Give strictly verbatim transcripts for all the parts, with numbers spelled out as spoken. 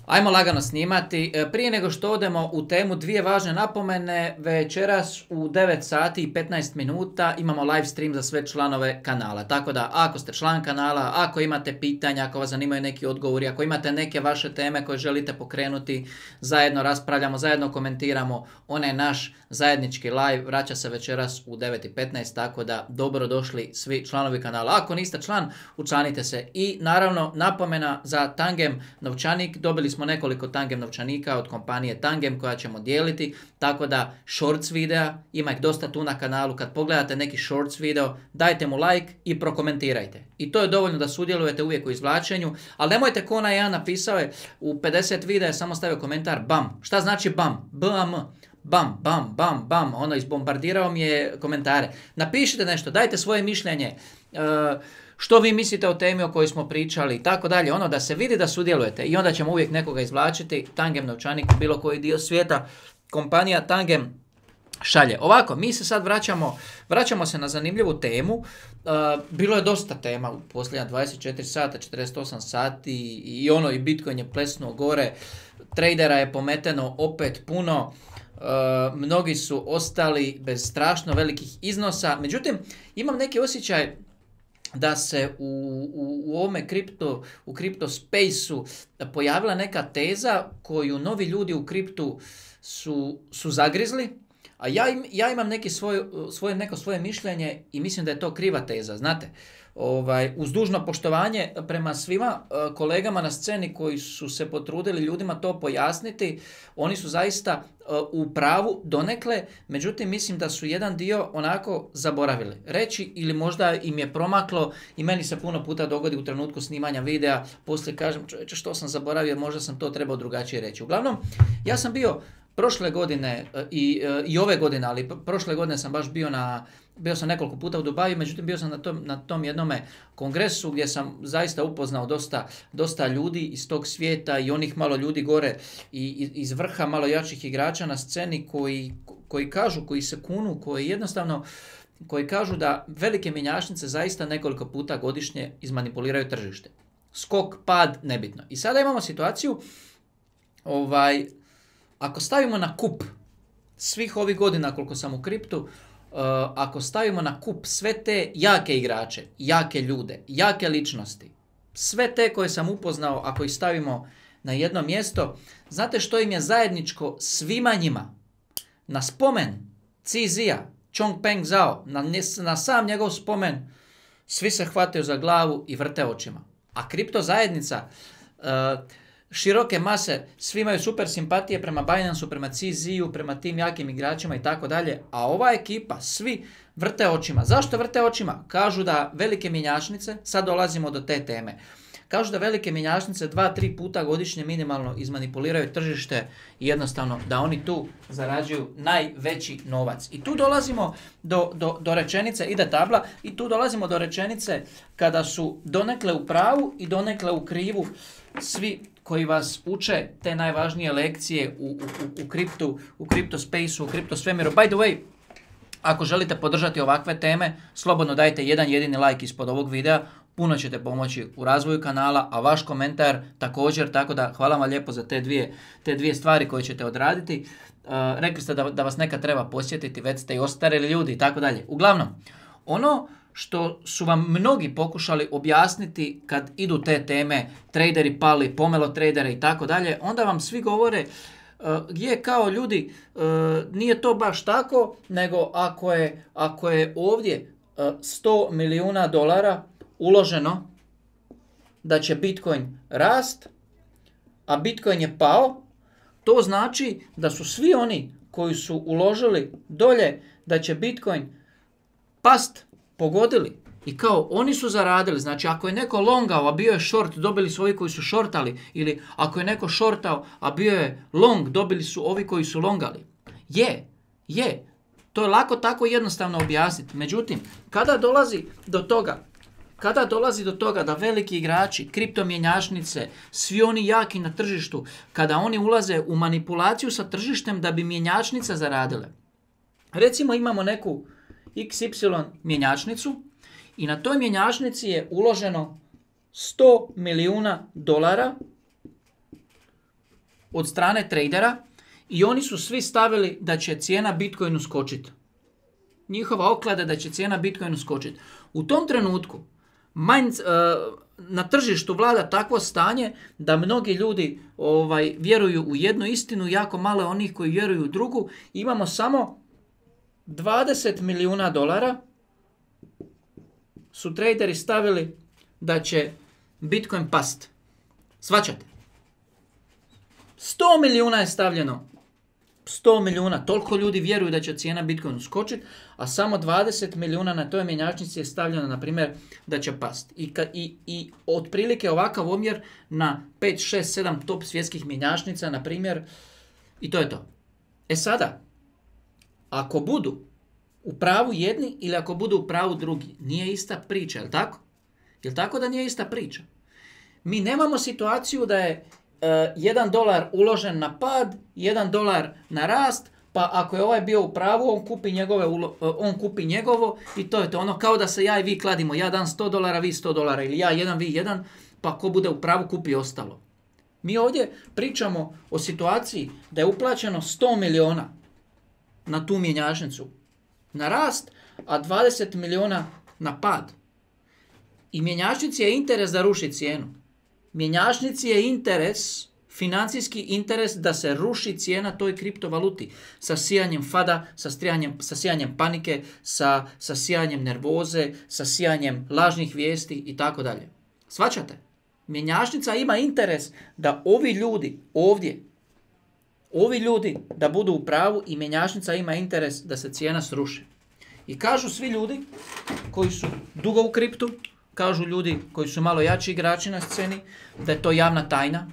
Ajmo lagano snimati. Prije nego što odemo u temu, dvije važne napomene. Večeras u devet sati i petnaest minuta imamo live stream za sve članove kanala. Tako da ako ste član kanala, ako imate pitanja, ako vas zanimaju neki odgovori, ako imate neke vaše teme koje želite pokrenuti, zajedno raspravljamo, zajedno komentiramo. Onaj naš zajednički live vraća se večeras u devet i petnaest, tako da dobro došli svi članovi kanala. Ako niste član, učlanite se. I naravno napomena za Tangem novčanik. Dobili smo nekoliko Tangem novčanika od kompanije Tangem koja ćemo dijeliti, tako da shorts videa, ima ih dosta tu na kanalu, kad pogledate neki shorts video, dajte mu like i prokomentirajte. I to je dovoljno da sudjelujete uvijek u izvlačenju, ali nemojte ko onaj jedan napisao je u pedeset videa, samo stavio komentar bam. Šta znači bam? B A M. Bam, bam, bam, bam, ono izbombardirao mi je komentare. Napišite nešto, dajte svoje mišljenje, uh, što vi mislite o temi o kojoj smo pričali i tako dalje, ono da se vidi da sudjelujete i onda ćemo uvijek nekoga izvlačiti. Tangem novčanik, bilo koji dio svijeta, kompanija Tangem šalje. Ovako, mi se sad vraćamo, vraćamo se na zanimljivu temu. Uh, bilo je dosta tema u posljednja dvadeset četiri sata, četrdeset osam sati i ono i Bitcoin je plesnuo gore, tradera je pometeno opet puno. Uh, mnogi su ostali bez strašno velikih iznosa, međutim imam neki osjećaj da se u, u, u ovome kripto, u kripto spaceu pojavila neka teza koju novi ljudi u kriptu su, su zagrizli, a ja, im, ja imam neki svoj, svoje, neko svoje mišljenje i mislim da je to kriva teza, znate. Ovaj, uz dužno poštovanje prema svima kolegama na sceni koji su se potrudili ljudima to pojasniti, oni su zaista u pravu donekle, međutim mislim da su jedan dio onako zaboravili reći ili možda im je promaklo i meni se puno puta dogodi u trenutku snimanja videa, poslije kažem čovječe što sam zaboravio, možda sam to trebao drugačije reći. Uglavnom, ja sam bio prošle godine i, i ove godine, ali prošle godine sam baš bio na Bio sam nekoliko puta u Dubaju, međutim bio sam na tom, na tom jednome kongresu gdje sam zaista upoznao dosta, dosta ljudi iz tog svijeta i onih malo ljudi gore i iz vrha malo jačih igrača na sceni koji, koji kažu, koji se kunu, koji jednostavno koji kažu da velike mjenjačnice zaista nekoliko puta godišnje izmanipuliraju tržište. Skok, pad, nebitno. I sada imamo situaciju, ovaj, ako stavimo na kup svih ovih godina koliko sam u kriptu, Uh, ako stavimo na kup sve te jake igrače, jake ljude, jake ličnosti, sve te koje sam upoznao, ako ih stavimo na jedno mjesto, znate što im je zajedničko svima njima? Na spomen Cizija, Chongpeng Zhao, na, na sam njegov spomen, svi se hvataju za glavu i vrte očima. A kripto zajednica, uh, široke mase, svi imaju super simpatije prema Binance-u, prema C Z-u, prema tim jakim igračima i tako dalje, a ova ekipa, svi vrte očima. Zašto vrte očima? Kažu da velike mjenjačnice, sad dolazimo do te teme, kažu da velike mjenjačnice dva, tri puta godišnje minimalno izmanipuliraju tržište i jednostavno da oni tu zarađuju najveći novac. I tu dolazimo do, do, do rečenice, ide tabla, i tu dolazimo do rečenice kada su donekle u pravu i donekle u krivu svi koji vas uče te najvažnije lekcije u, u, u kriptu, u kripto spaceu, u kripto svemiru. By the way, ako želite podržati ovakve teme, slobodno dajte jedan jedini like ispod ovog videa, puno ćete pomoći u razvoju kanala, a vaš komentar također, tako da hvala vam lijepo za te dvije, te dvije stvari koje ćete odraditi. Uh, rekli ste da, da vas neka treba posjetiti, već ste i ostarili ljudi i tako dalje. Uglavnom, ono što su vam mnogi pokušali objasniti kad idu te teme, traderi pali, pomelo tradere i tako dalje, onda vam svi govore uh, je kao ljudi, uh, nije to baš tako, nego ako je, ako je ovdje uh, sto milijuna dolara uloženo da će Bitcoin rast, a Bitcoin je pao, to znači da su svi oni koji su uložili dolje da će Bitcoin past, pogodili. I kao oni su zaradili, znači ako je neko longao, a bio je short, dobili su ovi koji su shortali, ili ako je neko shortao, a bio je long, dobili su ovi koji su longali. Je, je, to je lako tako jednostavno objasniti. Međutim, kada dolazi do toga, kada dolazi do toga da veliki igrači, kriptomjenjačnice, svi oni jaki na tržištu, kada oni ulaze u manipulaciju sa tržištem da bi mjenjačnice zaradile. Recimo imamo neku iks ipsilon mjenjačnicu i na toj mjenjačnici je uloženo sto milijuna dolara od strane tradera i oni su svi stavili da će cijena Bitcoinu skočiti. Njihova oklada da će cijena Bitcoinu skočiti. U tom trenutku mind, uh, na tržištu vlada takvo stanje da mnogi ljudi ovaj, vjeruju u jednu istinu, jako malo je onih koji vjeruju u drugu. Imamo samo dvadeset milijuna dolara su traderi stavili da će Bitcoin past. Svačate? sto milijuna je stavljeno. sto milijuna. Toliko ljudi vjeruju da će cijena Bitcoinu skočiti, a samo dvadeset milijuna na toj mjenjačnici je stavljeno, na primjer, da će past. I, ka, i, i otprilike ovakav omjer na pet, šest, sedam top svjetskih mjenjačnica, na primjer, i to je to. E sada, ako budu u pravu jedni ili ako budu u pravu drugi, nije ista priča, jel tako? Jel tako da nije ista priča? Mi nemamo situaciju da je uh, jedan dolar uložen na pad, jedan dolar na rast, pa ako je ovaj bio u pravu, on kupi, njegove ulo, uh, on kupi njegovo i to je to. Ono kao da se ja i vi kladimo, ja dam sto dolara, vi sto dolara, ili ja jedan, vi jedan, pa ko bude u pravu kupi ostalo. Mi ovdje pričamo o situaciji da je uplaćeno sto milijuna na tu mjenjačnicu na rast, a dvadeset milijuna na pad. I mjenjačnici je interes da ruši cijenu. Mjenjačnici je interes, financijski interes da se ruši cijena toj kriptovaluti. Sa sijanjem fada, sa, strijanjem, sa sijanjem panike, sa, sa sijanjem nervoze, sa sijanjem lažnih vijesti i tako dalje. Svačate? Mjenjačnica ima interes da ovi ljudi ovdje, ovi ljudi da budu u pravu i mjenjačnica ima interes da se cijena sruši. I kažu svi ljudi koji su dugo u kriptu, kažu ljudi koji su malo jači igrači na sceni, da je to javna tajna,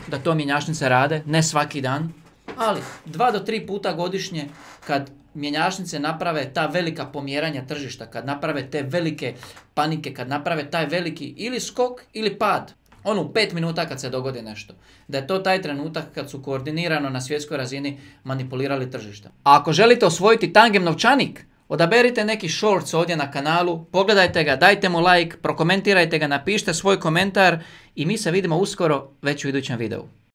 da to mjenjačnice rade, ne svaki dan, ali dva do tri puta godišnje kad mjenjačnice naprave ta velika pomjeranja tržišta, kad naprave te velike panike, kad naprave taj veliki ili skok ili pad, ono u pet minuta kad se dogodi nešto, da je to taj trenutak kad su koordinirano na svjetskoj razini manipulirali tržišta. A ako želite osvojiti tangem novčanik, odaberite neki shorts ovdje na kanalu, pogledajte ga, dajte mu like, prokomentirajte ga, napišite svoj komentar i mi se vidimo uskoro već u idućem videu.